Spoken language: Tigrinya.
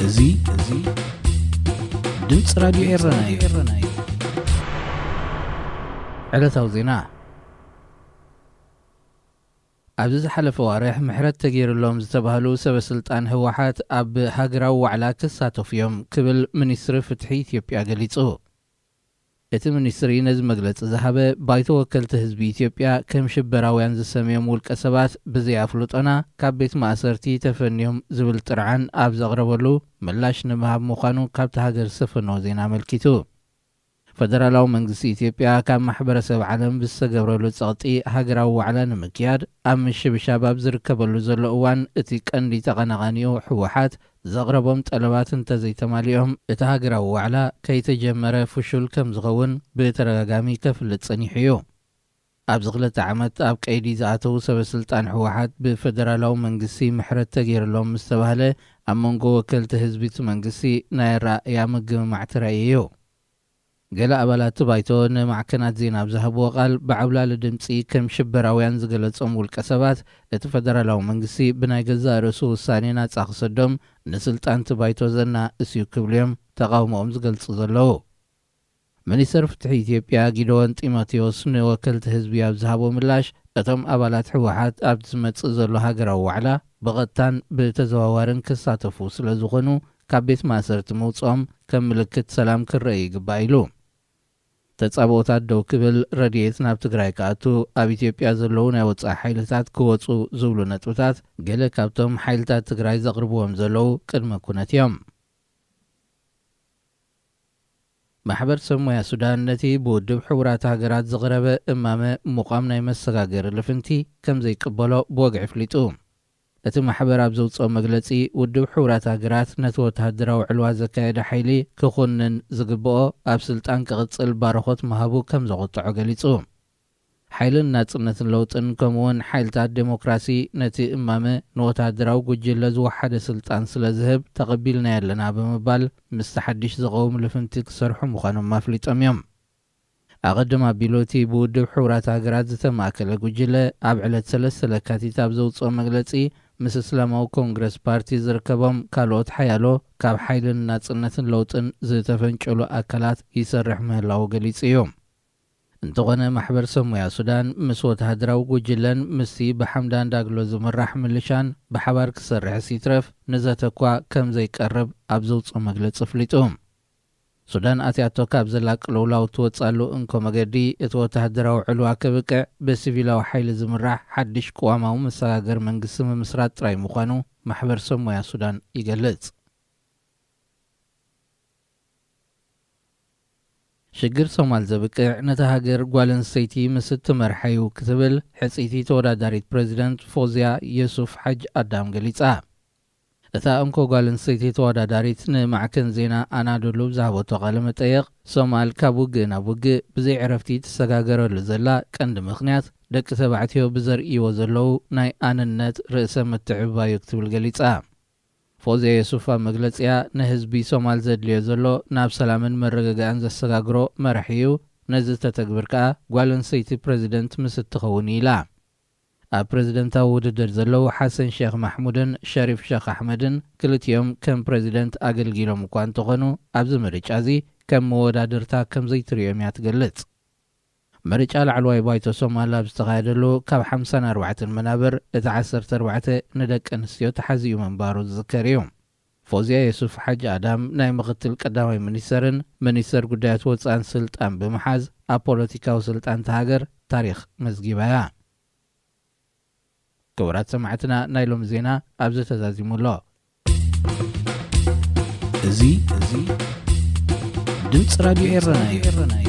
እዚ እዚ ድምፂ ራዲዮ ኤረና እዩ። ዕለታዊ ዜና። ኣብዚ ዝሓለፈ ዋርሕ ምሕረት ተገይሩሎም ዝተባህሉ ሰበ ስልጣን ህወሓት ኣብ ሃገራዊ ዋዕላ ክሳተፉ እዮም ክብል ሚኒስትሪ ፍትሒ ኢትዮጵያ ገሊጹ። እቲ ሚኒስትሪ ነዚ መግለጺ ዝሃበ፣ ባይቶ ወከልቲ ህዝቢ ኢትዮጵያ ከም ሽበራውያን ዝሰምዮም ውልቀ ሰባት ብዘይ ኣፍልጦና ካብ ቤት ማእሰርቲ ተፈንዮም ዝብል ጥርዓን ኣብ ዘቕረበሉ ምላሽ ንምሃብ ምዃኑ ካብቲ ሃገር ዝሰፈነዎ ዜና ኣመልኪቱ። ፈደራላዊ መንግስቲ ኢትዮጵያ ካብ ማሕበረሰብ ዓለም ብዝተገብረሉ ጸቕጢ ሃገራዊ ዋዕላ ንምክያድ ኣብ ምሽብሻብ ኣብ ዝርከበሉ ዘሎ እዋን፣ እቲ ቀንዲ ተቐናቓኒኡ ህወሓት ዘቕረቦም ጠለባት እንተዘይተማሊኦም፣ እቲ ሃገራዊ ዋዕላ ከይተጀመረ ፍሹል ከም ዝኸውን ብተደጋጋሚ ከፍልጥ ጸኒሑ እዩ። ኣብዚ ክልተ ዓመት ኣብ ቀይዲ ዝኣተዉ ሰበ ስልጣን ህወሓት ብፈደራላዊ መንግስቲ ምሕረት ተገይሩሎም ምስ ተባህለ፣ ኣብ መንጎ ወከልቲ ህዝቢ እቲ መንግስቲ ናይ ኣረኣእያ ምግምማዕ ተራእዩ እዩ። ገለ ኣባላት እቲ ባይቶ ንማዕከናት ዜና ኣብ ዝሃብዎ ቃል፣ ብዓብላሊ ድምጺ ከም ሽበራውያን ዝገለጾም ውልቀ ሰባት፣ እቲ ፈደራላዊ መንግስቲ ብናይ ገዛእ ርእሱ ውሳኔ ናጻ ክሰዶም ንስልጣን እቲ ባይቶ ዘናእስ እዩ ክብሉ እዮም ተቓውሞኦም ዝገልጹ ዘለዉ። ሚኒስተር ፍትሒ ኢትዮጵያ ጊደዎን ጢሞቴዎስ ንወከልቲ ህዝቢ ኣብ ዝሃቦ ምላሽ፣ እቶም ኣባላት ህወሓት ኣብቲ ዝመጽእ ዘሎ ሃገራዊ ዋዕላ ብቐጥታን ብተዘዋዋርን ክሳተፉ ስለ ዝኾኑ፣ ካብ ቤት ማእሰርቲ ምውጽኦም ከም ምልክት ሰላም ክረአ ይግባእ ኢሉ። ተጻብኦታት ደው ክብል፣ ረድኤት ናብ ትግራይ ክኣቱ፣ ኣብ ኢትዮጵያ ዘለዉ ናይ ወጻኢ ሓይልታት ክወጹ ዝብሉ ነጥብታት፣ ገለ ካብቶም ሓይልታት ትግራይ ዘቕርብዎም ዘለዉ ቅድመ ኩነት እዮም። ማሕበር ሰብ ሞያ ሱዳን ነቲ ብውድብ ሕቡራት ሃገራት ዝቕረበ እማመ ምቋም ናይ መሰጋገሪ ልፍንቲ ከም ዘይቅበሎ ብወግዒ ኣፍሊጡ። እቲ ማሕበር ኣብ ዘውጽኦ መግለጺ፣ ውድብ ሕቡራት ሃገራት ነቲ ወተሃደራዊ ዕልዋ ዘካየደ ሓይሊ ክኹንን ዝግብኦ ኣብ ስልጣን ክቕጽል ባርኾት ምሃቡ ከም ዘቑጥዖ ገሊጹ። ሓይልን ናጽነትን ለውጥን ከምኡውን ሓይልታት ዴሞክራሲ ነቲ እማመ ንወተሃደራዊ ጉጅለ ዝወሓደ ስልጣን ስለ ዝህብ ተቐቢልናዮ ኣለና ብምባል ምስቲ ሓድሽ ዝቐውም ልፍንቲ ክሰርሑ ምዃኖም ኣፍሊጦም እዮም። ኣቐድም ኣቢሉ እቲ ብውድብ ሕቡራት ሃገራት ዝተማእከለ ጉጅለ ኣብ ዕለት ሰለስተ ለካቲት ኣብ ዘውጽኦ መግለጺ፣ ምስ እስላማዊ ኮንግረስ ፓርቲ ዝርከቦም ካልኦት ሓያሎ ካብ ሓይልን ናጽነትን ለውጥን ዝተፈንጨሉ ኣካላት ይሰርሕ ምህላዉ ገሊጹ እዩ። እንተኾነ ማሕበር ሰብ ሞያ ሱዳን ምስ ወተሃደራዊ ጉጅለን ምስቲ ብሓምዳን ዳግሎ ዝምራሕ ምልሻን ብሓባር ክሰርሕስ ይትረፍ ንዘተ እኳ ከም ዘይቀርብ ኣብ ዘውጽኦ መግለጺ ኣፍሊጡ። ሱዳን ኣትያቶ ካብ ዘላ ቅልውላው ትወጽኣሉ እንኮ መገዲ፣ እቲ ወተሃደራዊ ዕልዋ ከብቅዕ ብሲቪላዊ ሓይሊ ዝምራሕ ሓድሽ ቅዋማዊ መሰጋገሪ መንግስቲ ምምስራት ጥራይ ምዃኑ ማሕበር ሰብ ሞያ ሱዳን ይገልጽ። ሽግር ሶማል ዘብቅዕ ነታ ሃገር ጓል ኣንስተይቲ ምስ እትመርሓ እዩ ክትብል ሕጽይቲ ተወዳዳሪት ፕረዚደንት ፎዝያ የሱፍ ሓጅ ኣዳም ገሊጻ። እታ እንኮ ጓል ኣንስተይቲ ተወዳዳሪት ንማዕከን ዜና ኣናዶሉ ብዝሃበቶ ቃለ መጠየቕ፣ ሶማል ካብ ውግእ ናብ ውግእ ብዘይ ዕረፍቲ ትሰጋገረሉ ዘላ ቀንዲ ምኽንያት ደቂ ተባዕትዮ ብዘርእይዎ ዘለዉ ናይ ኣንነት ርእሰ ምትዕብባይ እዩ ክትብል ገሊጻ። ፎዝያ የሱፍ ኣብ መግለጺኣ፣ ንህዝቢ ሶማል ዘድልዮ ዘሎ ናብ ሰላምን መረጋጋእን ዘሰጋግሮ መራሒ እዩ፣ ነዚ ተተግብር ከኣ ጓል ኣንስተይቲ ፕረዚደንት ምስ እትኸውን ኢላ። ኣብ ፕረዚደንታዊ ውድድር ዘለዉ ሓሰን ሼኽ ማሕሙድን ሸሪፍ ሼኽ ኣሕመድን ክልቲኦም ከም ፕረዚደንት ኣገልጊሎም እኳ እንተኾኑ፣ ኣብዚ ምርጫ እዚ ከም መወዳድርታ ከም ዘይትርእዮም እያ ትገልጽ። ምርጫ ላዕለዋይ ባይቶ ሶማል ኣብ ዝተኻየደሉ፣ ካብ ሓምሳን ኣርባዕተን መናብር እቲ ዓሰርተ ኣርባዕተ ንደቂ ኣንስትዮ ተሓዚኡ ምንባሩ ዝዝከር እዩ። ፎዝያ የሱፍ ሓጂ ኣዳም ናይ ምኽትል ቀዳማይ ሚኒስተርን ሚኒስተር ጉዳያት ወጻእን ስልጣን ብምሓዝ፣ ኣብ ፖለቲካዊ ስልጣን እታ ሃገር ታሪኽ መዝጊባ እያ። ክቡራት ሰማዕትና፣ ናይ ሎሚ ዜና ኣብዚ ተዛዚሙ ኣሎ። እዚ እዚ ድምፂ ራዲዮ ኤረና እዩ።